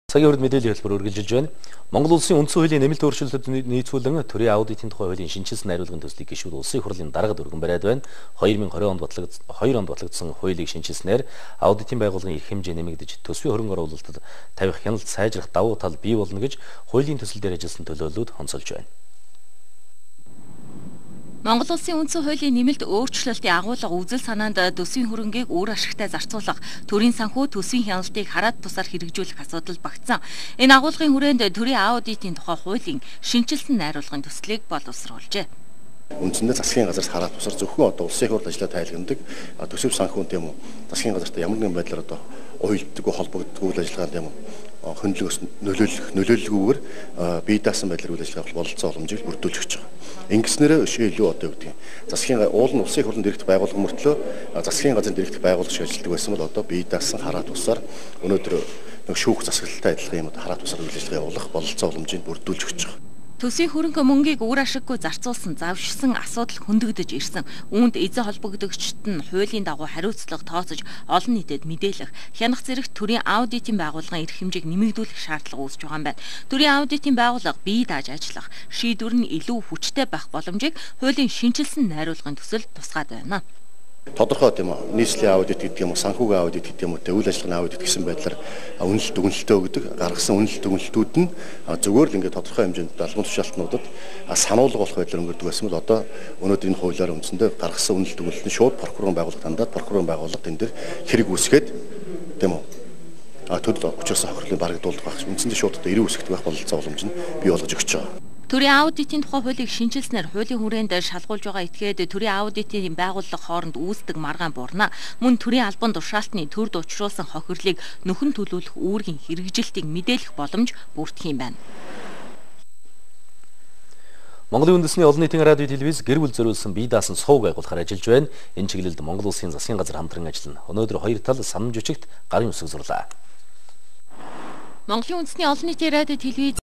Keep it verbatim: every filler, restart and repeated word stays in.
Цагийн хүрд мэдээллийн хэлбэр үргэлжилж байна. Монгол улсын үндсэн хуулийн нэмэлт өөрчлөлтөд нийцүүлэн төрийн аудитын тухай хуулийн шинжилсэн найруулгын төслийг гишүүд улсын хурлын даргад өргөн бариад байна. две тысячи двадцать онд батлагдсан хоёр онд батлагдсан хуулийг шинжилснээр аудитын байгууллагын эрх хэмжээ нэмэгдэж төсвийн хөрөнгө оруулалтад тавих хяналт сайжрах давуу тал бий болно гэж хуулийн төсөл дээр ажилласан төлөөллүүд онцолж байна. Монгол улсын үндсэн хуулийн нэмэлт өөрчлөлтийн агуулга үзэл санаанд төсвийн хөрөнгийг үр ашигтай зарцуулах, төрийн санхүү төсвийн хяналтыг хараад тусаар хэрэгжүүлэх асуудал багтсан. Энэ агуулгын хүрээнд төрийн аудитын тухай хуулийн шинжилсэн найруулгын төслийг боловсруулжээ. Үндсэндээ засгийн газраас хараад тусаар зөвхөн одоо улсын хурлд ажиллаад тайлгнадаг төсөв санхүүн тийм үү засгийн газарт ямар нэгэн байдлаар одоо уялддаг холбогддог үйл ажиллагаа тийм үү хөндлөгөөс нөлөөлөх нөлөөлөлгүйгээр бие даасан байдлаар үйл ажиллагаа бололцоо боломжийг бүрдүүлж өгч байгаа. Ингэснээр өшөө илүү одоо юу гэдэг засгийн уул нь улсын хурлын дэрэгдэх байгууллага мөртлөө засгийн газрын дэрэгдэх байгууллага шиг ажилладаг байсан бол одоо бие даасан хараад тусаар өнөөдөр нэг шүүх засаглалтай адилхан юм одоо хараад тусаар үйл ажиллагаа явуулах бололцоо боломжийг бүрдүүлж өгч байгаа. Төсвийн хөрөнгө мөнгийг үр ашиггүй зарцуулсан завшсан асуудал хөндөгдөж ирсэн. Үүнд эзэн холбогдогчдод нь хуулийн дагуу хариуцлага тооцож олон нийтэд мэдээлэх, хянах зэрэгт төрийн аудитын байгууллагын эрх хэмжээг нэмэгдүүлэх шаардлага үүсэж байгаа юм байна. Төрийн аудитын байгууллага бие дааж ажиллах, шийдвэр нь илүү хүчтэй байх боломжийг хуулийн шинжилсэн найруулгын төсөл тусгаад байна. Тодорхой тийм үү нийслэлийн аудит гэдэг юм уу санхүүгийн аудит гэдэг юм уу тэ үйл ажиллагааны аудит гэсэн байдлаар үнэлэлт дүгнэлтөө өгдөг гаргасан үнэлэлт дүгнэлтүүд нь зөвхөн л ингээд тодорхой хэмжээнд албан тушаалтнуудад сануулга болох байдлаар өнгөрдөг байсан бол одоо өнөөдөр энэ хуулиар үндсэндээ гаргасан үнэлэлт дүгнэлт нь шууд прокурорын байгууллагад хандаад прокурорын байгууллага тэн дээр хэрэг үүсгээд тийм үү а төлөв учраас хохирлын барагдуулах байх үндсэндээ шууд одоо эрүү үсгэх байх бололцоо боломж нь бий болгож өгч байгаа. Төрийн аудитын тухай хуулийг шинжилснээр хуулийн хүрээнд шалгуулж байгаа этгээд төрийн аудитын байгууллага хооронд үүсдэг маргаан буурна. Мөн төрийн албан тушаалтны төрд учруулсан хохирлыг нөхөн төлөвлөх үүргийн хэрэгжилтийг мэдээлэх боломж бүрдэх юм байна. Монголын үндэсний олон нийтийн радио телевиз гэр бүл зориулсан бие даасан сувг байгуулахаар ажиллаж байна. Энэ чиглэлд Монгол улсын засгийн газар хамтран ажиллана. Өнөөдөр хоёр тал санамж жүжигт гарын үсэг зурлаа. Монголын үндэсний олон нийтийн радио телевиз